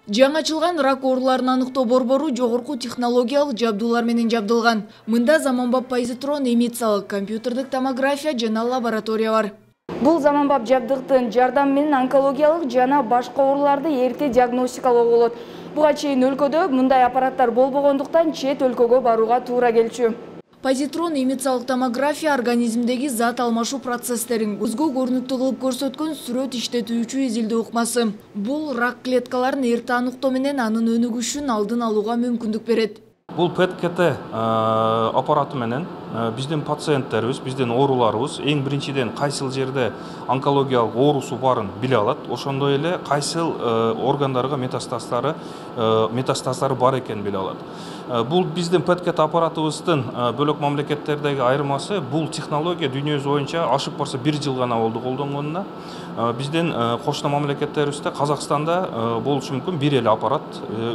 Жаңы ачылган рак ооруларын аныктоо борбору жогорку технологиялык жабдуулар менен жабдылган. Мында заманбап позитрон эмициялык компьютердик томография жана лаборатория бар. Бул заманбап жабдыктын жардамы менен онкологиялык жана башка ооруларды эрте диагностикалоо болот. Буга чейин өлкөдө мындай аппараттар болбогондуктан чет өлкөгө барууга туура келчү. Позитрон эмициялык томография организмдеги зат алмашуу процесстерин көзгө көрүнүктүү кылып көрсөткөн сүрөт иштетүүчү изилдөө ыкмасы. Бул рак клеткаларын эрте аныктоо менен анын өнүгүшүн алдын алууга мүмкүндүк берет. Бул ПЭТ-КТ аппараты менен биздин пациенттерибиз, биздин ооруларыбыз эң биринчиден кайсыл жерде онкологиялык оорусу барын биле алат. Ошондой эле кайсыл органдарга метастаздары бар экенин биле алат. Бул биздин ПЭТ-КТ аппаратыбыздын бөлөк мамлекеттердеги айырмасы, бул технология дүйнөбүз боюнча ашык барса 1 жыл гана болду колдонгонуна. Биздин кошуна мамлекеттерибизде, Казакстанда болушу мүмкүн бир эле аппарат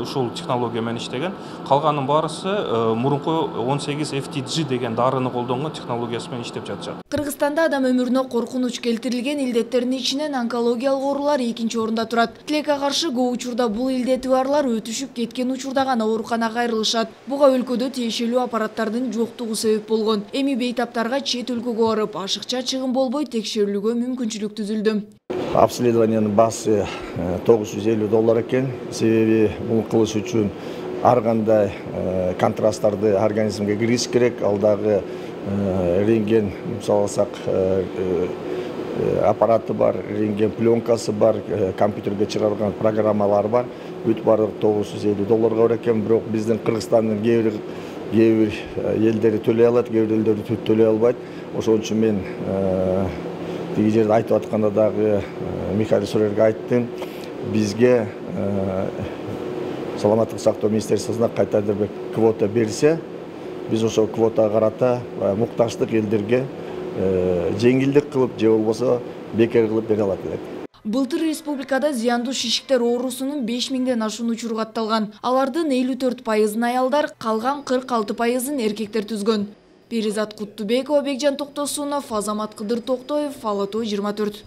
ушул технология менен иштеген. Калганын баарысы мурунку 18 FTG деген дарыны колдонгон технологиясы менен иштеп жатышат. Кыргызстанда адам өмүрүнө коркунуч келтирилген илдеттердин ичинен онкологиялык оорулар экинчи орунда турат. Тилекке каршы көп учурда бул илдети барлар өтүшүп кеткен учурда гана ооруканага кайрылышат. Буга өлкөдө тиешелүү аппараттардын жоктугу себеп болгон. Эми бейтаптарга чет өлкөгө барып, ашыкча чыгым болбой текшерилүүгө мүмкүнчүлүк түзүлдү. Обследованиянын баасы $950 экен. Себеби бул кылыш үчүн ар кандай контрасттарды организмге киргизиш керек. Ал дагы рентген, мисалы алсак, аппараты бар, рентген пленкасы бар, компьютерге чыгарылган программалар бар. Бүт баардыгы $950 бар экен. Бирок биздин Кыргызстандын кээ бир элдери төлөй алат, кээ бир элдери төлөй албайт. Ошон үчүн мен тиги жерде айтып атканда дагы Михаил Сурерге айттым. Бизге Саламаттык сактоо министерствосуна кайтадан бир квота берсе, биз ошол квотага карата муктаждык элдерге жеңилдик кылып, же болбосо бекер кылып бере алат элек. Былтыр республикада зыяндуу шишиктер оорусунун 5000ден ашуун учуру катталган. Алардын 54%-ын аялдар, калган 46%-ын эркектер түзгөн. Перизат Куттубекова, Бекжан Токтосунов, Азамат Кыдыр Токтоев, Ала Тоо 24.